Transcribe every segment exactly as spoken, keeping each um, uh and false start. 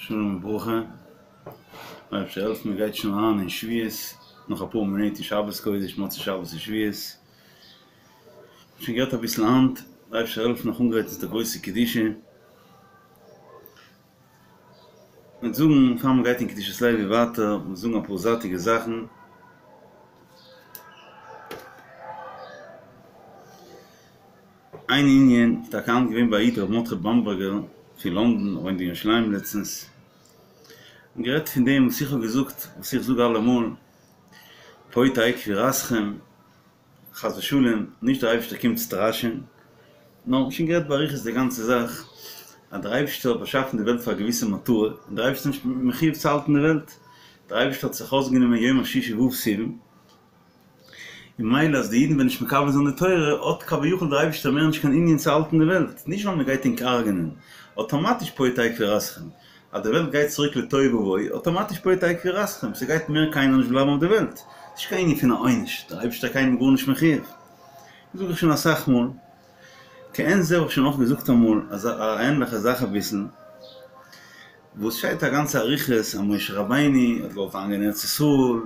שלום וברכה, אייבערשטער העלפן מען גייט שוין אריין אין שבועות, נאך אפאר מינוט איז שבת קודש, מוצאי שבת איז שבועות, שוין גערעדט אביסל היינט, אייבערשטער העלפן נאך אנגרייטן צו די גרויסע קדושה, מ'וועט זאגן פאר מען גייט אין קדושת לוי ווייטער, מ'וועט זאגן אפאר זייטיגע זאכן. איין ענין איז טאקע היינט געווען ביי א איד ר' מרדכי באמבערגער פון לונדון, וואוינט אין ירושלים לעצטנס, און גערעדט פון דעם וואס איך האב געזאגט, וואס איך זאג אלעמאל, פה תהא קבורתכם, חס ושלום, נישט דער אייבערשטער קומט סטראשען, נאר שוין גערעדט באריכות די גאנצע זאך, אז דער אייבערשטער האט באשאפן די וועלט פאר א געוויסע מטרה, און דער אייבערשטער איז נישט מחויב צו האלטן די וועלט, דער אייבערשטער האט זיך אויסגענומען יום השישי ו' סיוון, און ממילא אז די אידן וועלן נישט מקבל זיין די תורה, האט כביכול דער אייבערשטער מער נישט קיין ענין צו האלטן די וועלט, נישט ווייל מען גייט ענק הרג'נען, אטאמאטיש פה תהא קבורתכם, אז די וועלט גייט צוריק לתוהו ובוהו, אטאמאטיש פה תהא קבורתכם, ס'גייט מער קיינער נישט בלייבן אויף די וועלט, ס'נישט קיין ענין פון א עונש, דער אייבערשטער איז קיינעם גארנישט מחויב. דאס זאג איך שוין אסאך מאל, כעין זה האב איך שוין אויך געזאגט אמאל אזא א ענליכע זאך אביסל, וואס שטייט א גאנצע אריכות אז משה רבינו האט געוואלט אריינגיין אין ארץ ישראל,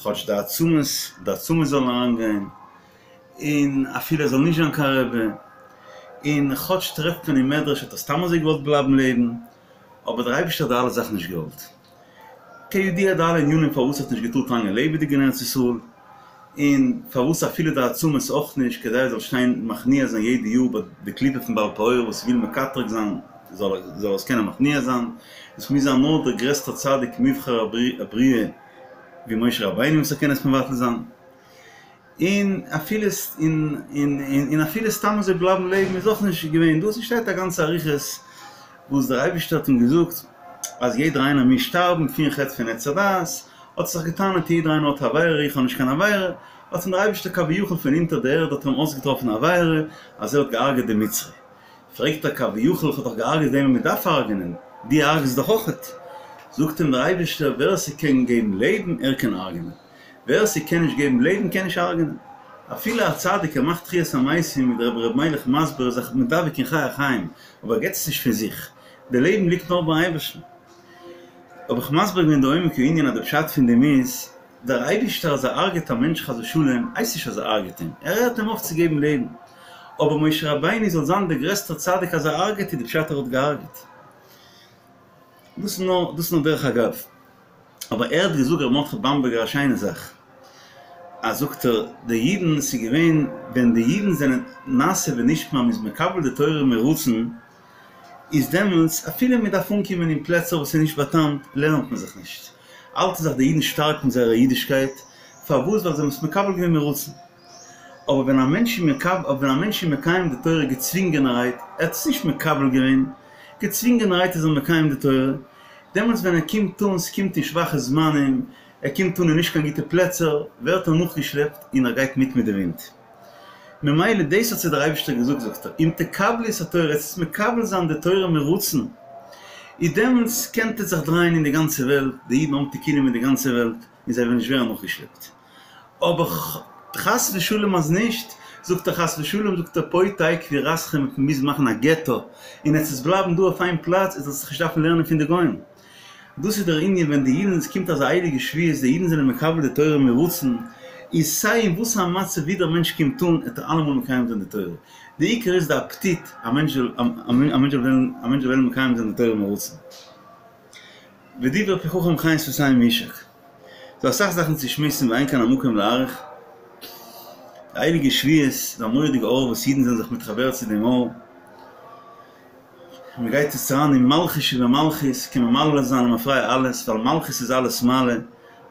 כאטש די עצמות, די עצמות זאלן אריינגיין, און אפילו ער זאל נישט זיין קיין רבי, און כאטש טרעפט מען אין מדרש האט ער סתם אזוי געוואלט בלייבן לעבן, אבער דער אייבערשטער האט די אלע זאכן נישט געוואלט. כידוע די אלע ענינים פארוואס ער האט נישט געטארט אריינגיין לעבעדיג אין ארץ ישראל, און פארוואס אפילו די עצמות אויך נישט, כדי ער זאל שטיין מכניע זיין יעדע יאר ביי די קליפה פון בעל פעור וואס וויל מקטרג זיין זאל ער עס קענען מכניע זיין, עס מוז זיין נאר דער גרעסטער צדיק מובחר הבריאה ווי משה רבינו וואס ער קען עס מבטל זיין. און אפילו און אפילו סתם אזוי בלייבן לעבן איז אויך נישט געווען דא, ס'שטייט א גאנצע אריכות וואס דער אייבערשטער האט אים געזאגט אז יעדער איינער מוז שטארבן פון חטא פון עץ הדעת, האט ער זיך געטענה'ט יעדער איינער האט עבירה איך האב נישט קיין עבירה, האט אים דער אייבערשטער כביכול פון אונטער די ערד האט ער אים אויסגעטראפן א עבירה אז ער האט געהארגעט די מצרי, פרעגט ער כביכול איך האב דאך געהארגעט וועמען מען דארף הרג'נען, דו הרג'סט דאך אויכעט, זאגט אים דער אייבערשטער ווער ס'קען געבן לעבן ער קען הרג'נען. ווער ס'קען נישט געבן לעבן קען נישט הרג'נען. אפילו א צדיק ער מאכט תחיית המתים ווי דער רבי ר' מיילעך מסביר איז זיך מדבק אין חי החיים אבער ער געבט עס נישט פון זיך, די לעבן ליגט נאר ביים אייבערשטן. האב איך מסביר געווען די עומק הענין אז די פשט פון דעם איז, דער אייבישטער אז ער הרג'עט א מענטש חס ושלום הייסט נישט אז ער הרג'עט אים, ער הערט אים אויף צו געבן לעבן. אבער משה רבינו זאל זיין דער גרעסטער צדיק אז ער הרג'עט איז די פשט ער האט געהרג'עט. דאס איז נאר דאס איז נאר דרך אגב. אבער ער האט געזאגט ר' מרדכי באמבערגער א שיינע זאך, אז זאגט ער, די אידן, ס'איז געווען ווען די אידן זענען נעשה ונשמע מ'איז מקבל די תורה מרצון, איז דעמאלטס אפילו מ'דארף אנקומען אין פלעצער וואס איז נישט באטאמט לערנט מען זיך נישט, האלטן זיך די אידן שטארק מיט זייער אידישקייט, פארוואס ווייל זיי האבן עס מקבל געווען מרצון. אבער ווען א מענטש איז מקבל, אבער ווען א מענטש איז מקיים די תורה געצווינגענערהייט, ער האט עס נישט מקבל געווען, געצווינגענערהייט איז ער מקיים די תורה, דעמאלטס ווען ער קומט אן, ס'קומט אין שוואכע זמנים, ער קומט אן אין נישט קיין גוטע פלעצער, ווערט ער נאכגעשלעפט און ער גייט מיט מיט די ווינט. ממילא דאס האט זיי דער אייבערשטער געזאגט, זאגט ער, אם תקבלו את התורה, עטס וועט מקבל זיין די תורה מרצון, איז דעמאלטס קענט עטס זיך דרייען אין די גאנצע וועלט, די אידן האבן תיקונים אין די גאנצע וועלט, און זיי וועלן נישט ווערן נאכגעשלעפט. אבער חס ושלום אז נישט, זאגט ער חס ושלום, זאגט ער פה תהא קבורתכם וועט מען מוזן מאכן א געטא, און עטס וועטס בלייבן דא אויף איין פלאץ, עטס זאלט זיך נישט דארפן לערנען פון די גוים. דאס איז דער ענין ווען די אידן, עס קומט אזא הייליגע שבועות, די אידן זענען מקבל די תורה מרצון, איז סיי אין וואס א מצב ווי דער מענטש קומט אן, עט ער אלעמאל מקיים זיין די תורה. די עיקר איז די אפעטיט, א מענטש זאל, א מענטש זאל וועלן, א מענטש זאל וועלן מקיים זיין די תורה מרצון. ודברי פי חכם חן שפתים יישק. ס'דא אסאך זאכן צו שמועסן ואין כאן המקום להאריך. די הייליגע שבועות איז א מורא'דיגע אור וואס אידן זענען זיך מתחבר צו דעם אור. מען גייט יעצט אריין אין מלכות שבמלכות, קען מען מעלה זיין למפרע אלעס, ווייל מלכות איז אלעס מעלה,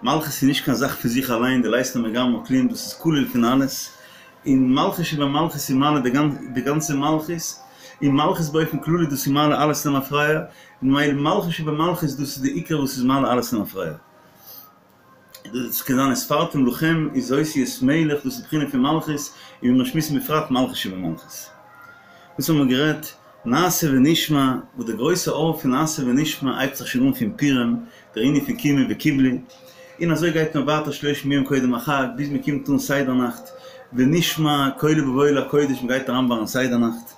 מלכות איז נישט קיין זאך פון זיך אליין, דלית לה מגרמה כלום, דאס איז כולל פון אלעס, און מלכות שבמלכות איז מעלה די גאנצע מלכות, און מלכות באופן כללי דאס איז מעלה אלעס למפרע, ממילא מלכות שבמלכות דאס איז די עיקר וואס איז מעלה אלעס למפרע. דאס קען זיין וספרתם לכם איז אותיות מלך דאס איז בחינה פון מלכות, און ווי מיר שמועסן בפרט מלכות שבמלכות. דאס האבן מיר גערעדט נעשה ונשמע, וואס די גרויסע אור פון נעשה ונשמע הייבט זיך שוין אן פון פורים, דער ענין פון קימו וקיבלו, און אזוי גייט מען ווייטער שלושים יום קודם החג ביז מען קומט אן סדר נאכט, ונשמע קולו בבואו אל הקודש מען גייט אריין ביים סדר נאכט.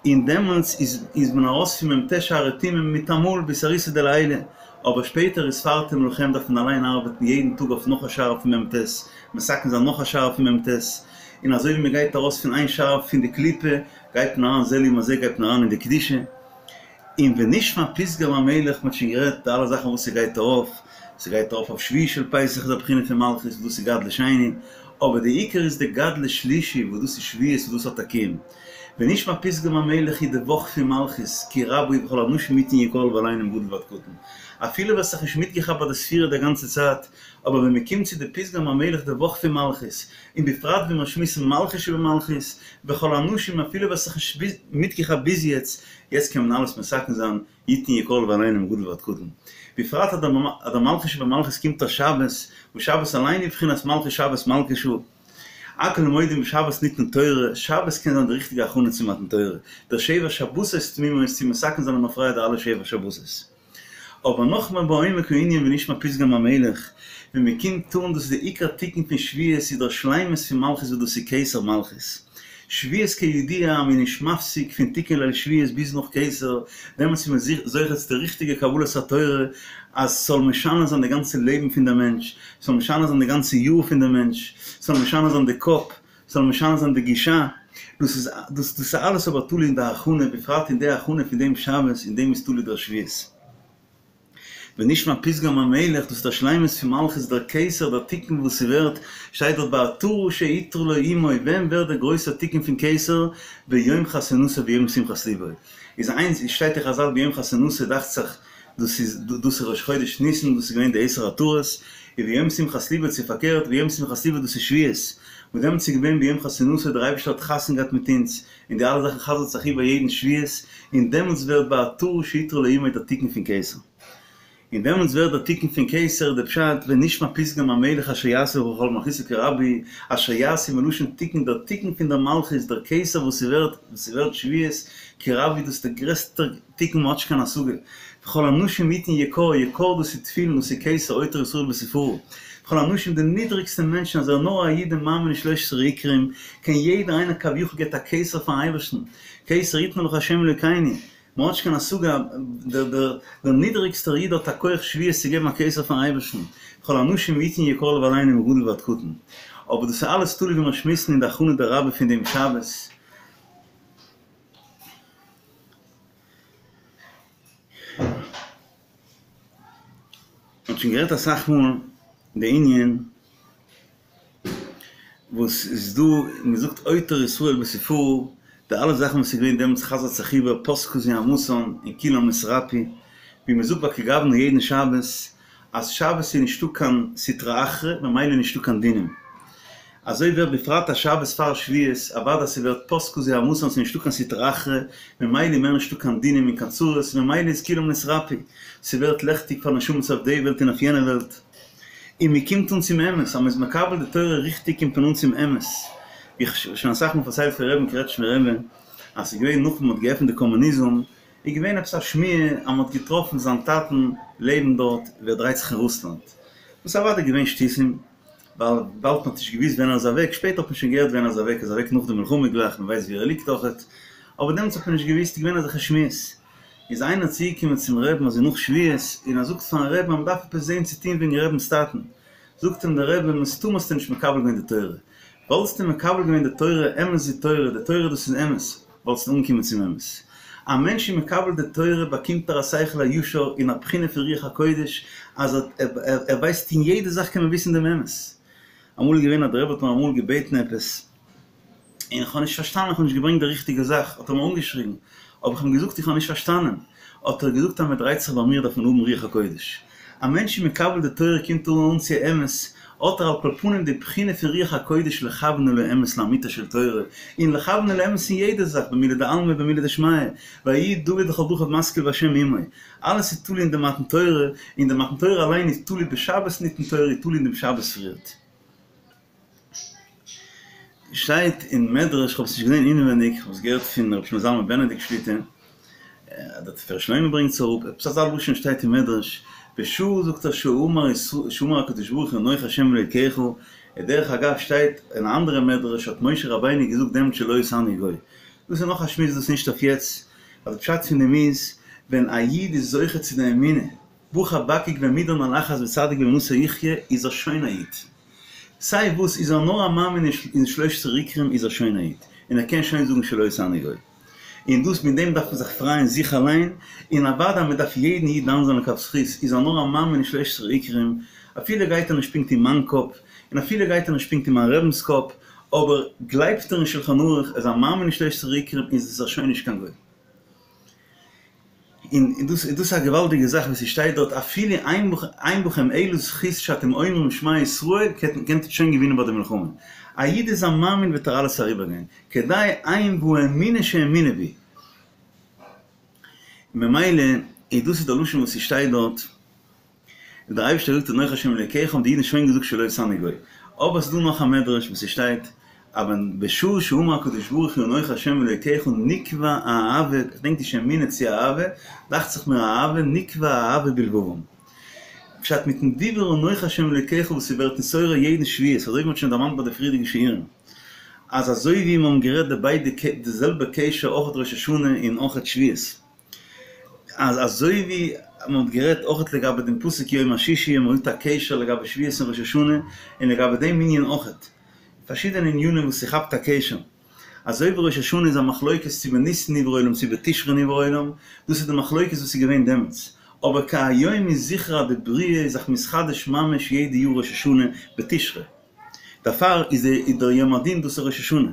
און דעמאלטס איז איז מען ארויס פון מ"ט שערי טומאה מיטאמאל באתערותא דלעילא, אבער שפעטער וספרתם לכם דארף מען אליין ארבעטן יעדן טאג אויף נאך א שער פון מ"ט, מתקן זיין נאך א שער פון מ"ט, און אזוי ווי מען גייט ארויס פון איין שער פון די קליפה גייט מען אריין זה לעומת זה גייט מען אריין אין די קדושה. און ונשמע פתגם המלך, מ'האט שוין גערעדט די אלע זאכן וואס ס'גייט ארויף, ס'גייט ארויף אויף שביעי של פסח איז א בחינה פון מלכות וואס דאס איז גדלות שני, אבער די עיקר איז די גדלות שלישי וואס דאס איז שבועות וואס דאס האט א קיום. ונשמע פתגם המלך איז די וואך פון מלכות, כי רבה הוא וכל האנשים יתן יקר לבעלינו מגדול ועד קטן. אפילו ווער ס'האט זיך נישט מיטגעכאפט ביי די ספירה די גאנצע צייט, אבער ווען מ'קומט צו די פתגם המלך די וואך פון מלכות, און בפרט ווען מיר שמועסן מלכות שבמלכות, וכל האנשים אפילו ווער ס'האט זיך נישט מיטגעכאפט ביז יעצט, יעצט קען מען אלעס מתקן זיין, יתן יקר לבעלינו מגדול ועד קטן. בפרט אז דער מלכות שבמלכות קומט אויף שבת, וואס שבת אליין איז בחינת מלכות שבת מלכה שעה. הכל מודים בשבת ניתנה תורה, שבת קען זיין די ריכטיגע הכנה צו מתן תורה, דער שבע שבתות תמימות צו מתקן זיין למפרע די אלע שבע שבתות. אבער נאכמער בעומק הענין ונשמע פתגם המלך, ווען מען קומט אן דאס איז די עיקר תיקון פון שבועות איז דער שלימות פון מלכות וואס דאס איז כתר מלכות. שבועות כידוע אז מען איז נישט מפסיק פון תיקון ליל שבועות ביז נאך כתר, דעמאלטס איז מען זוכה צו די ריכטיגע קבלת התורה אז ס'זאל משנה זיין די גאנצע לעבן פון דער מענטש, ס'זאל משנה זיין די גאנצע יאר פון דער מענטש, ס'זאל משנה זיין די קאפ, ס'זאל משנה זיין די גישה, דאס איז דאס איז אלעס אבער תלוי אין די הכנה, בפרט אין די הכנה פון דעם שבת, אין דעם איז תלוי דער שבועות. ונשמע פתגם המלך, דאס איז דער שלימות פון מלכות דער כתר, דער תיקון וואס ס'ווערט, שטייט דארט בעטרה שעטרה לו אמו, ווען ווערט דער גרויסער תיקון פון כתר? ביום חתונתו ביום שמחת לבו. איז איינס, שטייט אין חזל ביום חתונתו דאכט זיך דאס איז דאס איז ראש חודש ניסן דאס איז געווען די עשר עטרות, און ביום שמחת לבו צו פארקערט ביום שמחת לבו דאס איז שבועות, וואס דעמאלטס איז געווען ביום חתונתו דער אייבערשטער האט חתונה געהאט מיט אונז, און די אלע זאכן חזר'ט זיך איבער יעדן שבועות, און דעמאלטס ווערט בעטרה שעטרה לו אמו דער תיקון פון כתר. און דעמאלטס ווערט דער תיקון פון כתר די פשט ונשמע פתגם המלך אשר יעשה וכל מלכותו כי רבה היא, אשר יעשה מלשון תיקון דער תיקון פון דער מלכות דער כתר וואס ס'ווערט וואס ס'ווערט שבועות כי רבה היא דאס איז דער גרעסטער תיקון מ'האט נישט קיין השגה וכל האנשים יתן יקר יקר דאס איז תפילין דאס איז כתר עוטר ישראל בתפארה וכל האנשים די נידריגסטע מענטשן אז ער איז נאר א איד און מאמין אין שלש עשרה עיקרים קען יעדער איינער כביכול געבט א כתר פארן אייבערשטן כתר יתנו לך ה' אלוקינו מען האט נישט קיין השגה, דער דער דער נידעריגסטער איד האט א כח שבועות צו געבן א כתר פארן אייבערשטן, וכל האנשים יתן יקר לבעלינו מגדול ועד קטן. אבער דאס איז אלעס תלוי ווי מיר שמועסן אין די הכנה דרבה פון דעם שבת. מען האט שוין גערעדט אסאך מאל די ענין וואס איז דא, מען זאגט עוטר ישראל בתפארה, די אלע זאכן וואס איז געווען דעמאלטס חזר'ט זיך איבער פסקה זוהמתן און כולם נתרפאו, ווי מען זאגט ביי כגוונא יעדן שבת, אז שבת איז נישטא קיין סטרא אחרא ממילא איז נישטא קיין דינים. אזוי ווערט בפרט א שבת פאר שבועות, אוודאי ס'ווערט פסקה זוהמתן ס'איז נישטא קיין סטרא אחרא, ממילא איז מער נישטא קיין דינים און קיין צרות, ממילא איז כולם נתרפאו, ס'ווערט לעכטיג פאר נשמות אויף די וועלט און אויף יענע וועלט. און מען קומט אן צום אמת, אז מען איז מקבל די תורה ריכטיג קומט מען אן צום אמת. ווי איך האב שוין אסאך מאל פארציילט פון רבי'ן קרעטשמער רבי, אז ס'איז געווען נאך מען האט געעפנט די קאמוניזם, איז געווען עפעס א שמועה אז מען האט געטראפן זיין טאטן לעבן דארט ווי ער דרייט זיך אין רוסלאנד, וואס איז אוודאי געווען שטותים, ווייל וויבאלד מען האט נישט געוואוסט ווען ער איז אוועק, שפעטער האט מען שוין געהערט ווען ער איז אוועק, ער איז אוועק נאך די מלחמה גלייך, מען ווייסט ווי ער ליגט אויכעט, אבער דעמאלטס האט מען נישט געוואוסט, איז געווען אזעלכע שמועות. איז איינער צוגעקומען צום רעבן אזוי נאך שבועות און ער זאגט פארן רעבן אז מ'דארף עפעס זעהן צו טוהן וועגן רעבנ'ס טאטן, זאגט אים דער רבי מסתמא האסטו נישט מקבל געווען די תורה, וואלסטו מקבל געווען די תורה אמת זו תורה, די תורה דאס איז אמת, וואלסטו אנגעקומען צום אמת. א מענטש איז מקבל די תורה באקומט ער א שכל הישר און א בחינה פון רוח הקודש אז ער ווייסט אין יעדע זאך קען מען וויסן דעם אמת. אמאל איז געווען אז דער רבי האט מיר אמאל געבעטן עפעס, און איך האב נישט פארשטאנען, איך האב נישט געברענגט די ריכטיגע זאך, האט ער מיר אנגעשריגן, האב איך אים געזאגט איך האב נישט פארשטאנען, האט ער געזאגט אז מען דרייט זיך ביי מיר דארף מען האבן רוח הקודש, א מענטש איז מקבל די תורה קומט ער אן צו אמת, האט ער על כל פנים די בחינה פון רוח הקודש לכוון אל האמת לאמיתה של תורה, און לכוון אל האמת אין יעדע זאך במילי דעלמא ובמילי דשמיא, ויהי דוד לכל דרכיו משכיל והשם עמו, אלעס איז תלוי אין די מתן תורה, און די מתן תורה אליין איז תלוי בשבת ניתנה תורה איז תלוי אין דעם שבת פריערט. שטייט אין מדרש, כ'האב עס נישט געזען אינעווייניג, כ'האב עס געהערט פון רבי שלמה זלמן בענעדיקט שליט"א, דער תפארת שלמה ברענגט עס אראפ, עפעס אזא לשון שטייט אין מדרש, בשעה זאגט ער שאמר שאמר הקדוש ברוך הוא אנכי השם אלוקיך, און דרך אגב שטייט אין א אנדערע מדרש האט משה רבינו געזאגט דעמאלט שלא עשני גוי, דאס איז נאך א שמועס דאס איז נישט אויף יעצט, ווייל די פשט פון דעם איז, ווען א איד איז זוכה צו די אמונה, בא חבקוק והעמידן על אחת וצדיק באמונתו יחיה, איז ער שוין א איד. סיי וואס, איז ער נאר א מאמין אין שלש עשרה עיקרים איז ער שוין א איד, און ער קען שוין זאגן שלא עשני גוי. און דאס מיט דעם דארף מען זיך פרייען זיך אליין, און אוודאי מען דארף יעדן איד דן זיין לכף זכות, איז ער נאר א מאמין אין שלש עשרה עיקרים, אפילו גייט ער נישט פונקט אין מיין קאפ, און אפילו גייט ער נישט פונקט אין מיין רבינ'ס קאפ, אבער גלייבט ער אין שלחן ערוך, ער איז א מאמין אין שלש עשרה עיקרים, איז ער שוין נישט קיין גוי. און דאס איז א געוואלדיגע זאך וואס ס'שטייט דארט אפילו אין בכם אלא זכות שאתם אומרים שמע ישראל קענט איר שוין געווינען ביי די מלחמה. א איד איז א מאמין וועט ער אלעס אריבערגיין, כדי אין והאמונה שהאמינו בי. ממילא איז דאס איז די לשון וואס ס'שטייט דארט. און דער אייבערשטער זאגט אנכי השם אלוקיך האבן די אידן שוין געזאגט שלא עשני גוי. אבער ס'איז דא נאך א מדרש וואס ס'שטייט אז ווען בשעה שאמר הקדוש ברוך הוא אנכי השם אלוקיך נקבע האהבה, איך דענק נישט אמונה צו אהבה, דאכט זיך מיר אהבה, נקבע האהבה בלבבם. פשט מיטן דיבור אנכי השם אלוקיך וואס ס'ווערט נתעורר יעדן שבועות, אזוי ווי מ'האט שוין דערמאנט ביי די פריערדיגע שיעורים, אז אזוי ווי מ'האבן גערעדט די ביידע די זעלבע קשר אויך ראש השנה און אויך שבועות. אז אזוי ווי מען האט גערעדט אויכעט לגבי דעם פסוק יום השישי און מען האט א קשר לגבי שבועות און ראש השנה און לגבי דעם ענין אויכעט פארשידענע ענינים וואס ס'כאפט א קשר אזוי ווי ראש השנה איז א מחלוקת צו בניסן נברא עולם צו בתשרי נברא עולם דאס איז די מחלוקת וואס איז געווען דעמאלטס אבער כהיום איז זיכער אז די בריאה איז זיך מתחדש ממש יעדע יאר ראש השנה בתשרי דערפאר איז דער יום הדין דאס איז ראש השנה.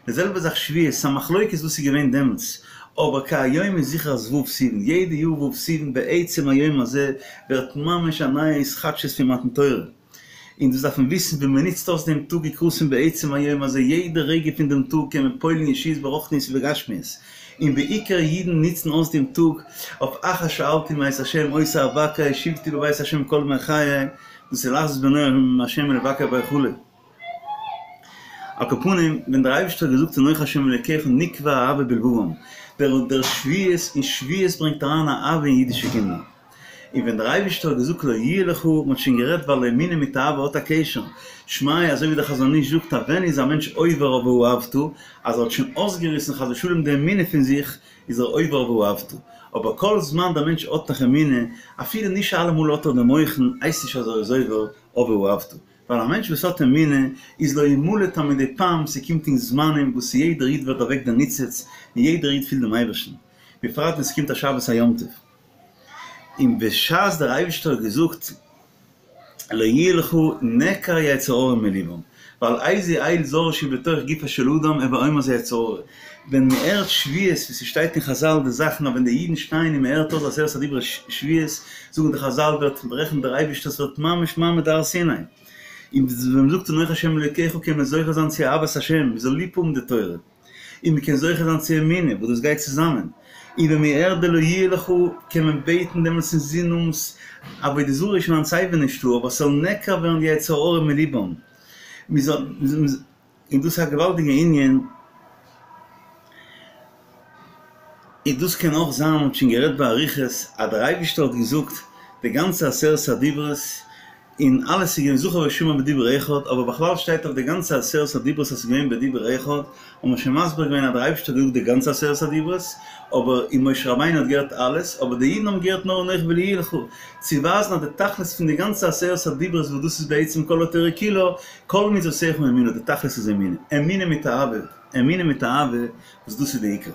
די זעלבע זאך שבועות, ס'א מחלוקת וואס איז געווען דעמאלטס, אבער כהיום איז זיכער אז ו' סיוון, יעדע יאר ו' סיוון בעצם היום הזה ווערט ממש א נייע התחדשות פון מתן תורה, און דאס דארף מען וויסן ווען מען נוצט אויס דעם טאג יקראתן בעצם היום הזה, יעדע רגע פון דעם טאג קען מען פועל'ן ישועות ברוחניות ובגשמיות, און בעיקר אידן נוצן אויס דעם טאג אויף אחר שאלתי מאת ה' אותה אבקש שבתי בבית ה' כל ימי חיי, דאס איז לחזות בנועם ה' ולבקר בהיכלו. על כל פנים, ווען דער אייבערשטער האט געזאגט אנכי ה' אלוקיך נקבע אהבה בלבבם, דער דער שבועות און שבועות ברענגט אריין א אהבה אין אידישע קינדער. און ווען דער אייבערשטער האט געזאגט לא יהיה לך, מען האט שוין גערעדט ווייל אמונה מיט אהבה האט א קשר, שמע אזוי ווי דער חזון איש זאגט אז ווען איז א מענטש עובר אויף ואהבת, אז ער האט שוין אויסגעריסן חס ושלום די אמונה פון זיך, איז ער עובר אויף ואהבת. אבער כל זמן דער מענטש האט נאך אמונה, אפילו נישט אלעמאל האט ער די מוחין, הייסט נישט אז ער איז עובר אויף ואהבת. ווייל א מענטש וואס האט אמונה איז לא ימלט אז מדי פעם ס'קומט אין זמנים וואס יעדער איד ווערט דערוועקט דער ניצוץ און יעדער איד פילט דעם אייבערשטן, בפרט ווען ס'קומט א שבת א יום טוב. און בשעת דער אייבערשטער האט געזאגט לא יהיה לך נעקר יצר הרע מלבם, ווייל איזה אל זר שהוא בתוך גופו של אדם הוי אומר זה יצר הרע, ווען מ'הערט שבועות ווי ס'שטייט אין חזל די זאכן אז ווען די אידן שטייען און מ'הערט אויס עשרת הדיברות שבועות זאגן די חזל ווערט ברעכנט דער אייבערשטער ס'ווערט ממש מעמד הר סיני, און ווען מ'זאגט אנכי ה' אלוקיך קען מען זוכה זיין צו אהבת השם, מ'זאל ליב האבן די תורה, און מ'קען זוכה זיין צו אמונה וואס דאס גייט צוזאמען, און ווען מ'הערט די לא יהיה לך קען מען בעטן דעמאלטס אין זין האבן עבודה זרה איז שוין היינט סייווי נישטא אבער ס'זאל נעקר ווערן די יצר הרע מלבם, מ'זאל. און דאס איז א געוואלדיגע ענין, און דאס קען אויך זיין, מ'האט שוין גערעדט באריכות, אז דער אייבערשטער האט געזאגט די גאנצע עשרת הדיברות, און אלעס איז געווען זכור ושמור בדיבור אחד, אבער בכלל שטייט אויף די גאנצע עשרת הדיברות אז ס'איז געווען בדיבור אחד, האט מען שוין מסביר געווען אז דער אייבערשטער האט געזאגט די גאנצע עשרת הדיברות, אבער און משה רבינו האט געהערט אלעס, אבער די אידן האבן געהערט נאר אנכי ולא יהיה לך, צו ווייזן אז די תכלית פון די גאנצע עשרת הדיברות וואס דאס איז בעצם כל התורה כולה, כל מצוותיך אמונה, די תכלית איז אמונה, אמונה מיט אהבה, אמונה מיט אהבה, וואס דאס איז די עיקר.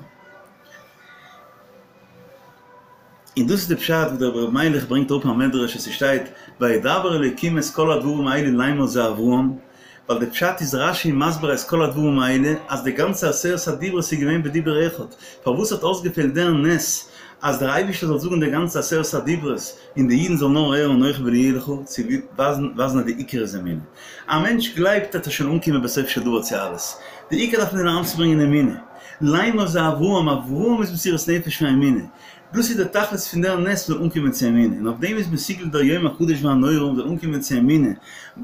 און דאס איז די פשט וואס דער רבי מיילעך ברענגט אראפ א מדרש אז ס'שטייט וידבר אלוקים את כל הדברים האלה לאמר זה אברהם, ווייל די פשט איז רש"י מסביר את כל הדברים האלה אז די גאנצע עשרת הדיברות איז געווען בדיבור אחד, פארוואס האט אויסגעפעלט דער נס אז דער אייבישטער זאל זאגן די גאנצע עשרת הדיברות און די אידן זאלן נאר הערן אנכי ולא יהיה לך, צו ווייזן אז די עיקר איז אמונה. א מענטש גלייבט וועט ער שוין אנקומען בסוף של דבר צו אלעס, די עיקר דארף מען אריינצוברענגען אמונה. לאמר זה אברהם, אברהם איז מסירות נפש פון אמונה, דאס איז דער תכלית פון דער נס מ'זאל אנקומען צו אמונה, און אויף דעם איז מסוגל דער יום הקדוש והנורא מ'זאל אנקומען צו אמונה,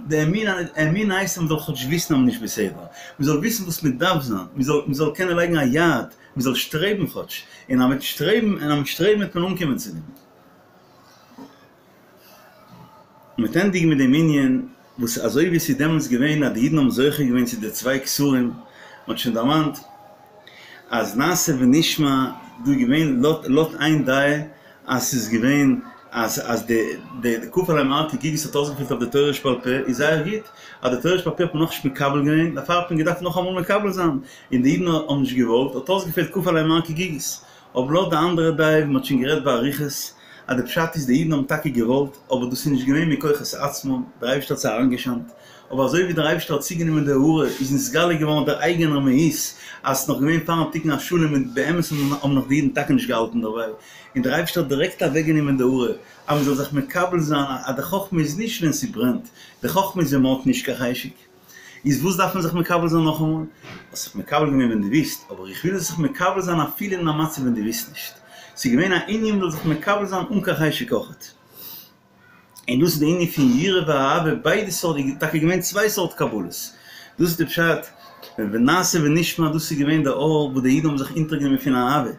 די אמונה, אמונה הייסט אז מ'זאל כאטש וויסן אז מ'איז נישט בסדר, מ'זאל וויסן וואס מ'דארף זיין, מ'זאל מ'זאל קענען לייגן א יעד, מ'זאל שטרעבן כאטש, און אז מ'וועט שטרעבן, און אז מ'וועט שטרעבן וועט מען אנקומען צו דעם. מ'וועט ענדיגן מיט דעם ענין וואס אזוי ווי עס איז דעמאלטס געווען אז די אידן האבן זוכה געווען צו די צוויי כתרים, מ'האט שוין דערמאנט אז נעשה ונשמע דא איז געווען לויט איין דעה אז ס'איז געווען אז אז די די כפה עליהם הר כגיגית האט אויסגעפעלט אויף די תורה שבעל פה איז זייער גוט אז די תורה שבעל פה האט מען נאכנישט מקבל געווען דערפאר האט מען געדארפט נאכאמאל מקבל זיין און די אידן האבן נישט געוואלט האט אויסגעפעלט כפה עליהם הר כגיגית אבער לויט די אנדערע דעה ווי מ'האט שוין גערעדט באריכות אז די פשט איז די אידן האבן טאקע געוואלט אבער דאס איז נישט געווען מכוחות עצמם דער אייבערשטער האט זיי אריינגעשיינט אבער אזוי ווי דער אייבערשטער האט צוגענומען די הארה איז נתגלה געווארן דער אייגענער מהות אז ס'איז נאך געווען פארן תיקון השלם און באמת האבן נאך די אידן טאקע נישט געהאלטן דערביי און דער אייבערשטער האט דירעקט אוועקגענומען די הארה אז מ'זאל זיך מקבל זיין אז די חכמה איז נישט ווען ס'ברענט, די חכמה איז ווען מ'האט נישט קיין חשק. איז וואס דארף מען זיך מקבל זיין נאכאמאל? האסט זיך מקבל געווען ווען דו ווילסט, אבער איך וויל זאלסט זיך מקבל זיין אפילו אין א מצב ווען דו ווילסט נישט. ס'איז געווען א ענין מ'זאל זיך מקבל זיין אן קיין חשק אויכעט. און דאס איז די ענין פון יראה ואהבה, ביידע סארט, איז טאקע געווען צוויי סארט קבלות. דאס איז די פשט, ונעשה ונשמע, דאס איז געווען די אור וואס די אידן האבן זיך אונטערגענומען פון אהבה,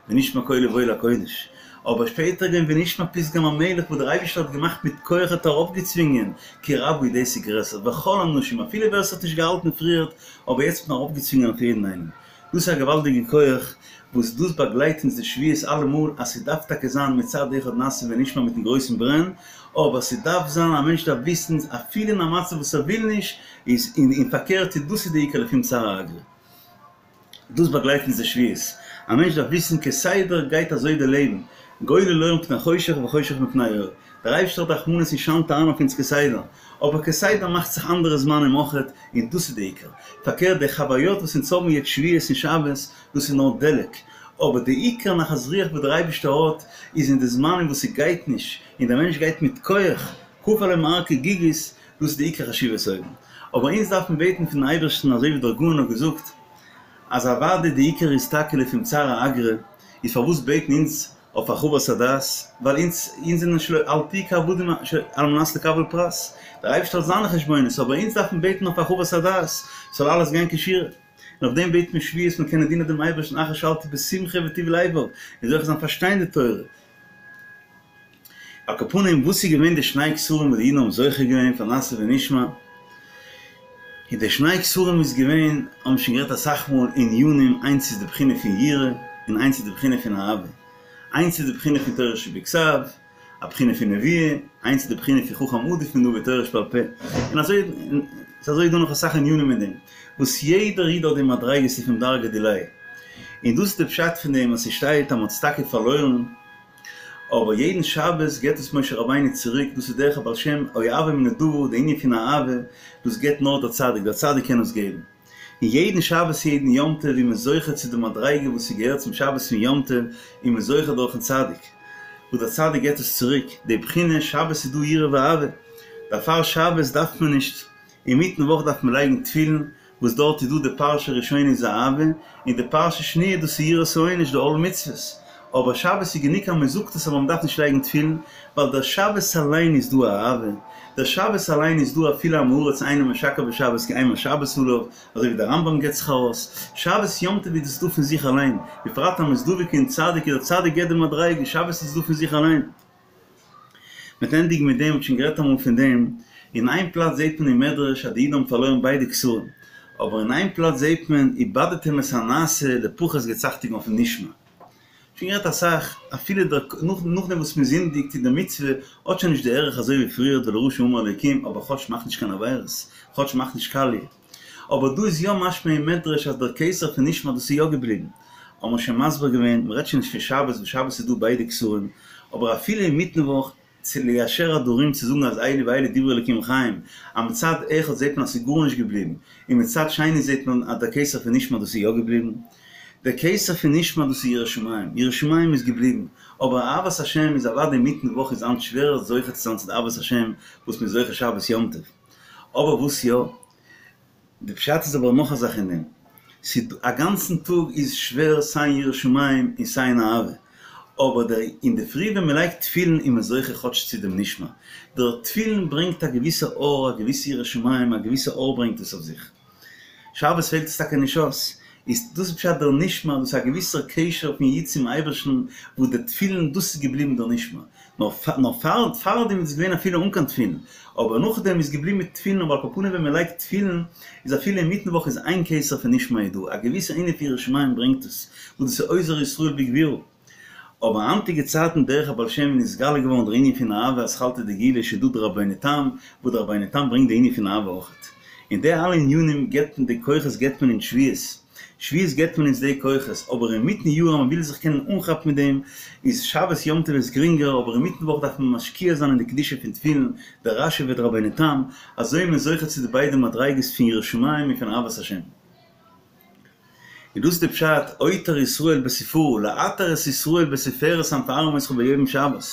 ונשמע קולו בא אל הקודש. אבער שפעטער געווען ונשמע פתגם המלך וואס דער אייבערשטער האט געמאכט מיט כח האט ארויפגעצווינגען, כי רבה הוא דאס איז גרעסער, וכל האנשים, אפילו ווער עס האט נישט געהאלטן פריערט, אבער יעצט האט מען ארויפגעצווינגען אויף יעדן איינעם. דאס איז א געוואלדיגע כח וואס דאס באגלייט אונז די שבועות אלעמאל אז ס'דארף טאקע זיין מצד אחד נעשה ונשמע מיטן גרויסן ברען, אבער ס'דארף זיין א מענטש דארף וויסן אפילו אין א מצב וואס ער וויל נישט איז און פארקערט איז דאס איז די עיקר לפום צערא אגרא. דאס באגלייט אונז די שבועות, א מענטש דארף וויסן כסדר גייט אזוי די לעבן, גולל אור מפני חושך וחושך מפני אור, דער אייבערשטער האט רחמנות און שיינט אריין אויף אונז כסדר, אבער כסדר מאכט זיך אנדערע זמנים אויכעט, און דאס איז די עיקר. פארקערט די חוויות וואס אונז האבן יעצט שבועות און שבת, דאס איז נאר דלק, אבער די עיקר נחת רוח וואס דער אייבערשטער האט, איז אין די זמנים וואס ס'גייט נישט, און דער מענטש גייט מיט כח, כפה עליהם הר כגיגית, דאס איז די עיקר חשיבות אויבן. אבער אונז דארפן בעטן פונעם אייבערשטן אזוי ווי דער גאון האט געזאגט, אז אוודאי די עיקר איז טאקע לפום צערא אגרא, איז פארוואס בעטן אונז אויף הרחבת הדעת, ווייל אונז אונז זענען שלא אל תהיו כעבדים על מנת לקבל פרס, דער אייבערשטער האט זיינע חשבונות, אבער אונז דארפן בעטן אויף הרחבת הדעת, ס'זאל אלעס גיין כשורה, און אויף דעם בעט מען שבועות מען קענען דינען דעם אייבערשטן אחר שאלתי בשמחה וטוב לבב, און זוכה זיין פארשטיין די תורה. על כל פנים וואס איז געווען די שני כתרים וואס די אידן האבן זוכה געווען פאר נעשה ונשמע, און די שני כתרים איז געווען, האבן שוין גערעדט אסאך מאל ענינים, איינס איז די בחינה פון יראה, און איינס איז די בחינה פון אהבה, איינס איז די בחינה פון תורה שבכתב, א בחינה פון נבואה, איינס איז די בחינה פון חכם עדיף מנביא תורה שבעל פה, און אזוי און אזוי איז דא נאך אסאך ענינים אין דעם, וואס יעדער איד האט די מדריגות לפום דרגא דיליה, און דאס איז די פשט פון דעם אז ס'שטייט אז מ'האט עס טאקע פארלוירן, אבער יעדן שבת געבט עס משה רבינו צוריק, דאס איז דרך הבעל שם, אוהבו מנדבה, די ענין פון אהבה, דאס געבט נאר דער צדיק, דער צדיק קען עס געבן. און יעדן שבת יעדן יום טוב איז מען זוכה צו די מדריגה וואס ס'געהערט צום שבת און יום טוב, איז מען זוכה דורכן צדיק, וואס דער צדיק געבט עס צוריק, די בחינה שבת איז דא יראה ואהבה, דערפאר שבת דארף מען נישט, אינמיטן וואך דארף מען לייגן תפילין, וואס דארט איז דא די פרשה ראשונה איז אהבה, און די פרשה שניה דאס איז יראת העונש די עול מצוות, אבער שבת איז גענוג אז מען זאגט עס אבער מען דארף נישט לייגן תפילין, ווייל דער שבת אליין איז דא אהבה, דער שבת אליין איז דא אפילו עם הארץ אינו משקר בשבת כי אימת שבת עליו, אזוי ווי דער רמב"ם געבט זיך ארויס, שבת יום טוב איז דאס דא פון זיך אליין, בפרט אז מען איז דבוק אין צדיק איז דער צדיק געבט די מדריגה, שבת איז דא פון זיך אליין. מ'וועט ענדיגן מיט דעם, מ'האט שוין גערעדט אמאל פון דעם, אין איין פלאץ זעט מען אין מדרש אז די אידן האבן פארלוירן ביידע כתרים, אבער אין איין פלאץ זעט מען איבדתם את הנעשה לפחות געבט אכטונג אויפן נשמע. שוין גערעדט אסאך, אפילו דער נאכדעם וואס מען זינדיגט אין די מצוה האט שוין נישט די ערך אזוי ווי פריערט ולרשע אמר אלוקים, אבער כאטש מאך נישט קיין עבירות, כאטש מאך נישט קאליע. אבער דא איז יא משמע אין מדרש אז דער כתר פון נשמע דאס איז יא געבליבן. האבן מיר שוין מסביר געווען, מ'רעדט שוין נישט פון שבת, וואס שבת איז דא ביידע כתרים, אבער אפילו אינמיטן וואך, צו ליישר הדרים צו זאגן אז אלו ואלו דברי אלקים חיים, אז מצד אחד זעט מען אז ס'איז גארנישט געבליבן, און מצד שני זעט מען אז דער כתר פון נשמע דאס איז יא געבליבן. דער כתר פון נשמע דאס איז יראת שמים, יראת שמים איז געבליבן, אבער אהבת השם איז אוודאי אינמיטן וואך איז היינט שווערער זוכה צו זיין צו די אהבת השם וואס מ'איז זוכה שבת יום טוב. אבער וואס יא? די פשט איז אבער נאך א זאך אין דעם, ס'איז א גאנצן טאג איז שווער סיי אין יראת שמים און סיי אין אהבה, אבער דער אינדערפרי ווען מען לייגט תפילין איז מען זוכה כאטש צו דעם נשמע, דער תפילין ברענגט א געוויסע אור, א געוויסע יראת שמים, א געוויסע אור ברענגט עס אויף זיך. שבת פעלט עס טאקע נישט אויס, איז דאס איז פשט דער נשמע, דאס איז א געוויסער קשר פון איד צום אייבערשטן, וואס די תפילין דאס איז געבליבן דער נשמע, נאר נאר פאר פארדעם איז געווען אפילו אן קיין תפילין, אבער נאכדעם איז געבליבן מיט תפילין, אבער על כל פנים ווען מען לייגט תפילין איז אפילו אינמיטן וואך איז איין כתר פון נשמע איז דא, א געוויסע ענין פון יראת שמים ברענגט עס, וואס דאס איז אוזר ישראל בגבורה. אבער היינטיגע צייטן דרך הבעל שם איז נתגלה געווארן דער ענין פון אהבה אתחלתא דגאולה ס'דא דער רבינו תם, וואס דער רבינו תם ברענגט די ענין פון אהבה אויכעט. און די אלע ענינים געבט מען די כוחות געבט מען אין שבועות. שבועות געבט מען אונז די כוחות, אבער אינמיטן יאר אז מען וויל זיך קענען אנכאפן מיט דעם, איז שבת יום טוב איז גרינגער, אבער אינמיטן וואך דארף מען משקיע זיין אין די קדושה פון תפילין, דער רש"י ודער רבינו תם, אזוי איז מען זוכה צו די ביידע מדריגות פון יראת שמים און פון אהבת השם. און דאס איז די פשט, עוטר ישראל בתפארה, לעטר את ישראל בתפארת המפארים אותך ביום שבת,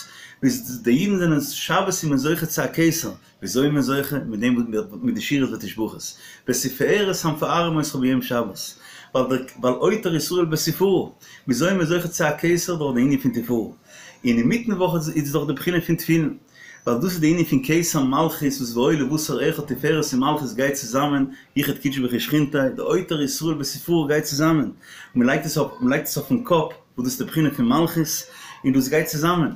ביז די אידן זענען שבת איז מען זוכה צו א כתר, וויאזוי איז מען זוכה? מיט דעם מיט די שירות ותשבחות, בתפארת המפארים אותך ביום שבת, ווייל דער ווייל עוטר ישראל בתפארה, וויאזוי איז מען זוכה צו א כתר דורך די ענין פון תפארה, און אינמיטן וואך איז דאך די בחינה פון תפילין, ווייל דאס איז די ענין פון כתר מלכות וואס והיה לבשר אחד תפארת און מלכות גייט צוזאמען, יחוד קודשא בריך הוא ושכינתיה, די עוטר ישראל בתפארה גייט צוזאמען, מען לייגט עס אויף מען לייגט עס אויפן קאפ וואס דאס איז די בחינה פון מלכות, און דאס גייט צוזאמען.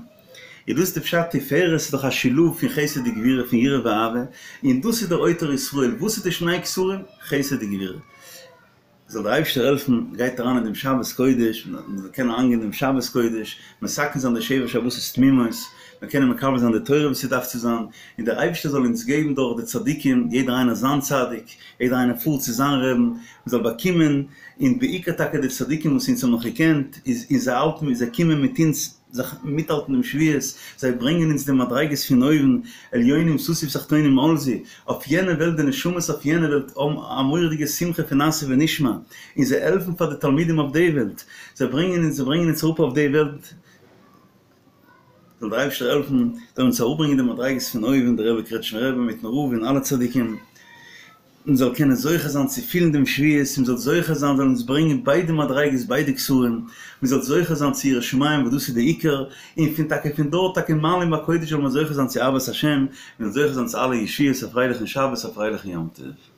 איז דאס די פשט תפארת איז דאך א שילוב פון חסד וגבורה פון יראה ואהבה, און דאס איז דער עוטר ישראל, וואס איז די שני כתרים? חסד וגבורה. זאל דער אייבערשטער העלפן, גייט אריין אין דעם שבת קודש, מען זאל קענען אריינגיין אין דעם שבת קודש, מתקן זיין די שבע שבתות תמימות, מען קענען מקבל זיין די תורה ווי ס'דארף צו זיין, און דער אייבערשטער זאל אונז געבן דורך די צדיקים, יעדער איינער זיין צדיק, יעדער איינער פארט צו זיין רעבן, מען זאל באקומען, און בעיקר טאקע די צדיקים וואס אונז האבן נאך געקענט, איז און זיי האלטן מיט, זיי קומען מיט אונז, זיך מיטהאלטן דעם שבועות, זיי ברענגען אונז די מדריגות פון אויבן, עליונים ששו ותחתונים עלזו, אויף יענע וועלט די נשמות אויף יענע וועלט האבן א מורא'דיגע שמחה פון נעשה ונשמע, און זיי העלפן פאר די תלמידים אויף די וועלט, זיי ברענגען אונז זיי ברענגען אונז אראפ אויף די וועלט, זאל דער אייבערשטער העלפן זאל אונז אראפברענגען די מדריגות פון אויבן, דער רבי קרעטשניפער רבי מיטן רב און אלע צדיקים. מען זאל קענען זוכה זיין צו פילן דעם שבועות, מען זאל זוכה זיין זאל אונז ברענגען ביידע מדריגות ביידע כתרים, מען זאל זוכה זיין צו יראת שמים וואס דאס איז די עיקר, און פון טאקע פון דארט טאקע מעלים בקודש זאל מען זוכה זיין צו אהבת השם, מען זאל זוכה זיין צו אלע ישועות, א פרייליכן שבת א פרייליכן יום טוב.